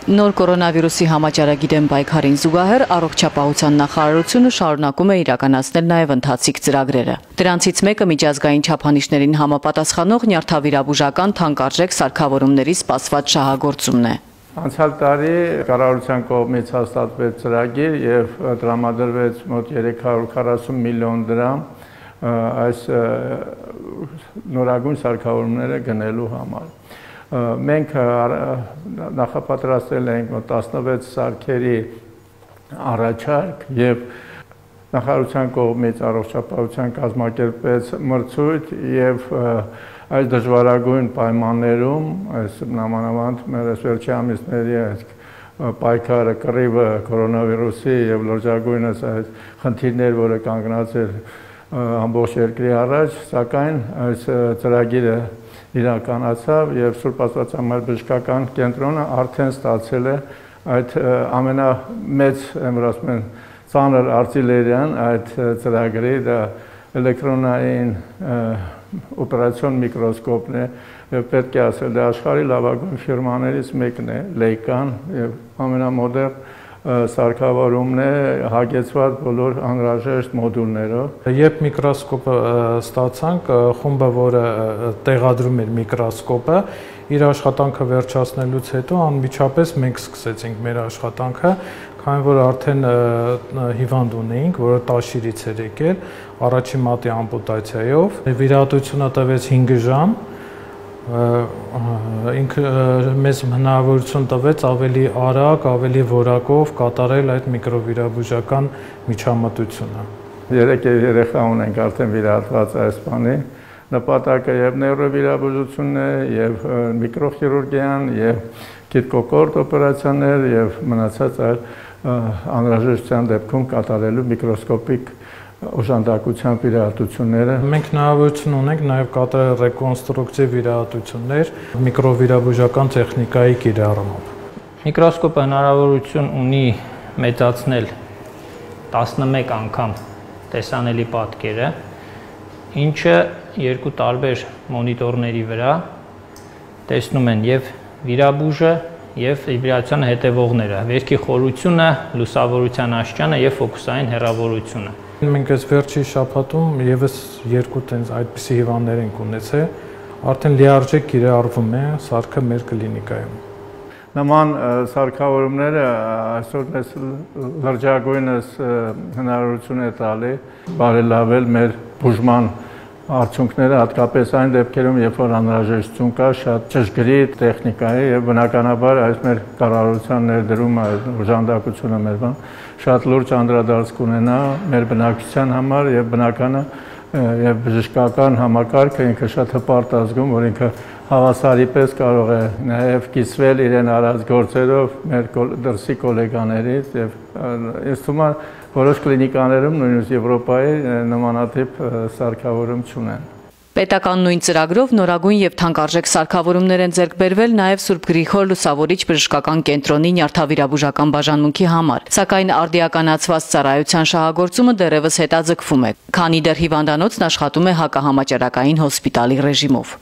Նոր կորոնավիրուսի համաճարակի դեմ պայքարին զուգահեռ առողջապահության նախարարությունը շարունակում է իրականացնել նաև ընթացիկ ծրագրերը։ Դրանցից մեկը միջազգային չափանիշներին համապատասխանող նյարդավիրաբուժական թանկարժեք սարքավորումների սպասված շահագործումն է։ Անցյալ տարի կառավարության կողմից հաստատվեց ծրագիր եւ տրամադրվեց մոտ 340 միլիոն դրամ այս նորագույն սարքավորումները գնելու համար։ Մենք նախապատրաստել ենք 16 սարքերի առաջարկ եւ նախարարության կողմից առողջապահության կազմակերպեց մրցույթ եւ այս դժվարագույն պայմաններում, այս նամանավանդ մեր վերջի ամիսների պայքարը կռիվը կորոնավիրուսի եւ լրջագույնս այս խնդիրներ, որը կանգնած էր ամբողջ երկրի առաջ, սակայն այս ծրագիրը իրականացավ եւ Սուրբ Աստվածամայր բժշկական կենտրոնը արդեն ստացել է այդ ամենամեծ, ասում են, ծանր արտիլերիան այդ ծրագրի դա էլեկտրոնային օպերացիոն միկրոսկոպն է եւ պետք է ասել դա աշխարհի լավագույն ֆիրմաներից մեկն է Leica-ն եւ ամենամոդեռն սարքավորումն է հագեցված բոլոր անհրաժեշտ մոդուլներով։ Երբ միկրոսկոպը ստացանք, խումբը, որը տեղադրում էր միկրոսկոպը, իր աշխատանքը վերջացնելուց հետո անմիջապես մենք սկսեցինք մեր աշխատանքը, քանի որ արդեն հիվանդ ունեինք, որը տաշիրից էր եկել, առաջին մատի ամպուտացիայով։ Վիրահատությունը տևեց 5 ժամ։ Ինքը մեզ հնարավորություն տվեց ավելի արագ, ավելի որակով կատարել այդ միկրովիրաբուժական միջամտությունը։ 3 երեխա ունենք արդեն վիրահատված այս բանի։ Նպատակը եւ նեյրովիրաբուժությունն է, եւ միկրոխիրուրգիան, եւ գիտկոկորտ օպերացիաներ, եւ մնացած այլ անհրաժեշտության դեպքում կատարելու միկրոսկոպիկ օժանդակությամբ վիրահատությունները։ Մենք հնարավորություն ունենք նաև կատարել ռեկոնստրուկցիվ վիրահատություններ միկրովիրաբուժական տեխնիկայի կիրառումով։ Միկրոսկոպը հնարավորություն ունի մեծացնել 11 անգամ տեսանելի պատկերը, ինչը երկու տարբեր մոնիտորների վրա տեսնում են եւ վիրաբուժը եւ վիրահատության հետևողները, վերքի խորությունը, լուսավորության աստիճանը եւ ֆոկուսային հեռավորությունը։ Մենք այս վերջի շաբաթում եւս 2 տենց այդպիսի հիվանդներ ենք ունեցել, արդեն լիարժեք կիրառվում է սարքը մեր կլինիկայում։ Նման սարքավորումները այսօր մեզ լրջագույնս հնարավորություն է տալի բարելավել մեր բուժման արդյունքները, հատկապես այն դեպքերում, երբ որ անհրաժեշտություն կա շատ ճշգրիտ տեխնիկայի եւ բնականաբար այս մեր կառավարության ներդրումը, օժանդակությունը մեր շատ լուրջ անդրադարձ կունենա մեր բնակչության համար եւ բնականը եւ բժշկական համակարգը ինքը շատ հպարտ ազգում, որ ինքը հավասարի պես կարող է նաեւ կիսվել իրեն արած գործերով մեր դրսի գոլեգաներից եւ ինձ թվում է որոշ կլինիկաներում նույնիսկ Եվրոպայի նմանատիպ սարքավորում չունեն։ Պետական նույն ծրագրով նորագույն եւ թանկարժեք սարքավորումներ են ձեռք բերվել նաեւ Սուրբ Գրիգոր Լուսավորիչ բժշկական կենտրոնի նյարդավիրաբուժական բաժանմունքի համար, սակայն արդիականացված ծառայության շահագործումը դեռևս հետաձգվում է, քանի դեռ հիվանդանոցն աշխատում է հակահամաճարակային հոսպիտալի ռեժիմով։